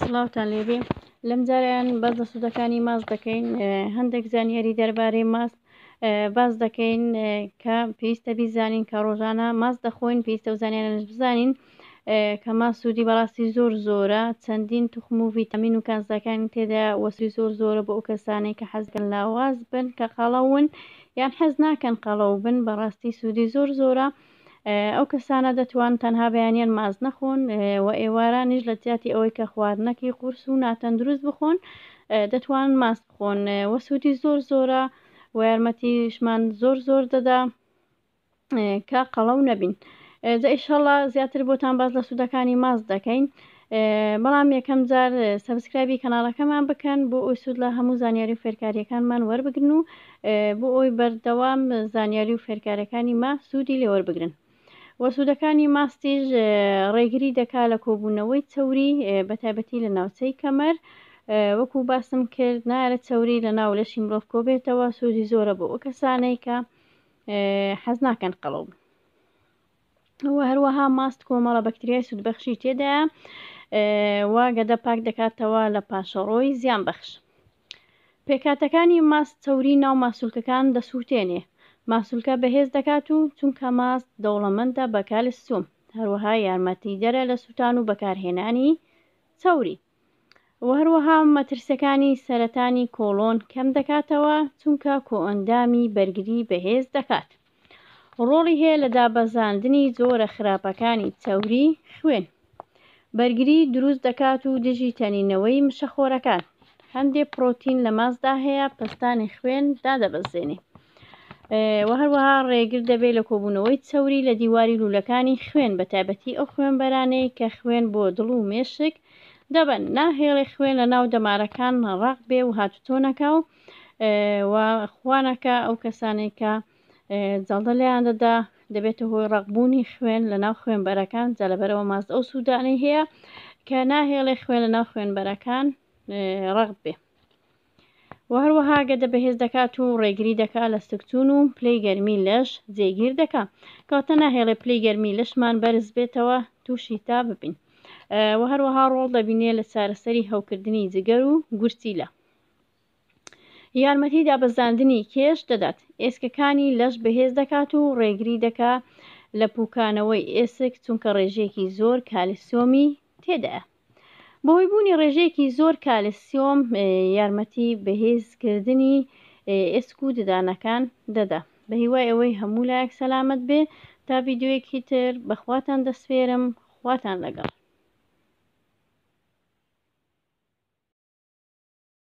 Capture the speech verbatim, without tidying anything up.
سڵاوتان لێبێ. لەم جارەیان باس لە سوودەکانی ماست دەکەین. هەندێک زانیاری دەربارەی ماست باس دەکەین کە پێویستە بیزانین کە ڕۆژانە ماست دەخۆین، پێویستە و زانیارانش بزانین کە ماست سوودی بەڕاستی زۆر زۆرە، چەندین توخم و ڤیتامین و کانزاکانی تێدا وەسوی زۆر زۆرە بۆ ئەو کەسانەی کە حەزکەن لاواز بن، کە قەڵەون یان حەز ناکەن قەڵەو بن، بەڕاستی سوودی زۆر زۆرە. ئەو کەسانە دەتوان تەنها بەیانیان ماست نەخۆن و ئێوارانیش لە جیاتی ئەوەی کە خواردنەکی قورس و ناتەندروست بخۆن دەتوانن ماست بخۆن وە سوودی زۆر زۆرە و یارمەتیشمان زۆر زۆر دەدا کە قەڵەو نەبین. جا ئیشەڵڵا زیاتر بۆتان باس لە سوودەکانی ماست دەکەین، بەڵام یەکەم جار subscribe ی کەناڵەکەمان بکەن بۆ ئەوی سوود لە هەموو زانیاری و فێرکاریەکانمان وەربگرن و بۆ ئەوی بەردەوام زانیاری و فێرکاریەکانی ما سوودی لێوەربگرن. وە سوودەکانی ماستیش ڕێگری دەکا لە کۆبوونەوەی چەوری بە تایبەتی لە ناوچەی کەمەر، وەکو باسم کرد نایەرە چەوری لە ناو لەشی مرۆڤ کۆبێتەوە، سوودی زۆرە بۆ ئەو کەسانەی کە حەز ناکەن قەڵەو بن. و هەروەها ماست کۆمەڵە بەکتریای سوودبەخشی تێدایە و گەدە پاک دەکاتەوە لە پاشەڕۆی زیان بەخش. پێکهاتەکانی ماست چەوری ناو ماسولکەکان دەسووتێنێ، ماسولکە بەهێز دەکات و چونکە ماست دەوڵەمەندە بە کالسیۆم، هەروەها یارمەتیدەرە لە سووتان و بەکارهێنانی چەوری. و هەروەها مەترسیەکانی سەرەتانی کۆڵۆن کەم دەکاتەوە چونکە کۆئەندامی بەرگری بەهێز دەکات. ڕۆڵی هەیە لە دابەزاندنی جۆرە خراپەکانی چەوری خوێن، بەرگری دروست دەکات و دژی تەنینەوەی مشەخۆرەکان. هەندێک پرۆتین لە ماستدا هەیە پەستانی خوێن دادەبەزێنێ. و هەروەها ڕێگر دەبێت لە کۆبوونەوەی چەوری لە دیواری لوولەکانی خوێن، بە تایبەتی ئەو خوێنبەرانەی کە خوێن بۆ دڵ و مێشک دەبەن، ناهێڵێ خوێن لە ناو دەمارەکان ڕەق بێ و هاتوچۆ نەکا و و خوانەکە ئەو کەسانێک کە جەڵدە لێیان دەدا دەبێتە هۆی ڕەقبوونی خوێن لە ناو خوێنبەرەکان. جا لەبەرەوە ماست ئەو سوودانەی هەیە کە ناهێڵێ خوێن لە ناو خوێنبەرەکان ڕەق بێ. و هەروەها گەدە بەهێز دەکات و ڕێگری دەکات لە سکچوون و پلەی گەرمی لەش جێگیر دەکات، کەواتە ناهێڵێ پلەی گەرمی لەشمان بەرز بێتەوە تووشی تا ببین. و هەروەها ڕۆڵ دەبینێ لە چارەسەری هەوکردنی جگەر و گورچیلە. یارمەتی دابەزاندنی کێش دەدات، ئێسکەکانی لەش بەهێز دەکات و ڕێگری دەکات لە پوکانەوەی ئێسک چونکە ڕێژەیەکی زۆر کالسیۆمی تێدایە. بەهۆی بوونی ڕێژەیەکی زۆر کالسیۆم یارمەتی بەهێزکردنی ئێسک و ددانەکان دەدا. بە هیوای ئەوەی هەموو لایەک سەلامەت بێ. تا ڤیدیۆیەکی تر بەخواتان دەسپێرم، خواتان لەگەڵ.